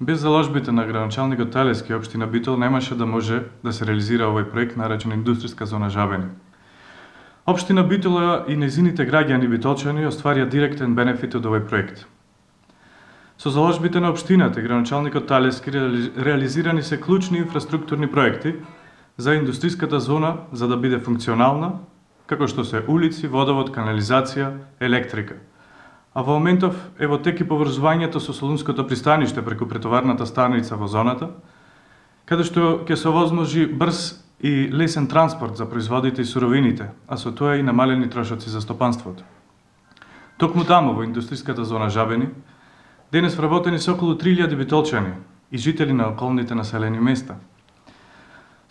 Без заложбите на градоначалникот Талески, општина Битол немаше да може да се реализира овој проект наречен индустријска зона Жабени. Општина Битола и нејзините граѓани битолчани остварија директен бенефит од овој проект. Со заложбите на општината и градоначалникот Талески реализирани се клучни инфраструктурни проекти за индустријската зона за да биде функционална, како што се улици, водовод, канализација, електрика. А во моментов е во тек и поврзувањето со Солунското пристаниште преку претоварната станица во зоната, каде што ќе се овозможи брз и лесен транспорт за производите и суровините, а со тоа и намалени трошоци за стопанството. Токму таму, во индустријската зона Жабени, денес вработени се околу 3000 битолчани и жители на околните населени места.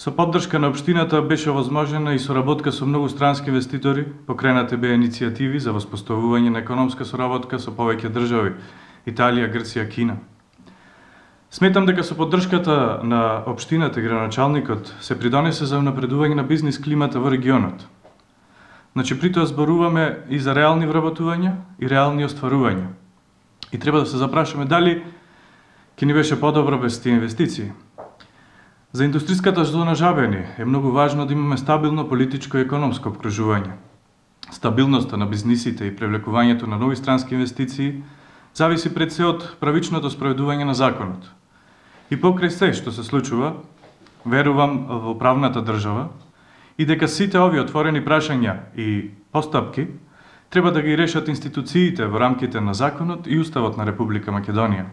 Со поддршка на општината беше овозможена и соработка со многу странски инвеститори, покренати беа иницијативи за воспоставување на економска соработка со повеќе држави – Италија, Грција, Кина. Сметам дека со поддршката на општината и градоначалникот се придонесе за унапредување на бизнис климата во регионот. Значи, при тоа зборуваме и за реални вработувања и реални остварувања. И треба да се запрашаме дали ќе ни беше подобро без тие инвестиции. За индустријската зона Жабени е многу важно да имаме стабилно политичко и економско обкружување. Стабилноста на бизнисите и привлекувањето на нови странски инвестиции зависи пред се од правичното спроведување на законот. И покрај се што се случува, верувам во правната држава и дека сите овие отворени прашања и постапки треба да ги решат институциите во рамките на законот и Уставот на Република Македонија.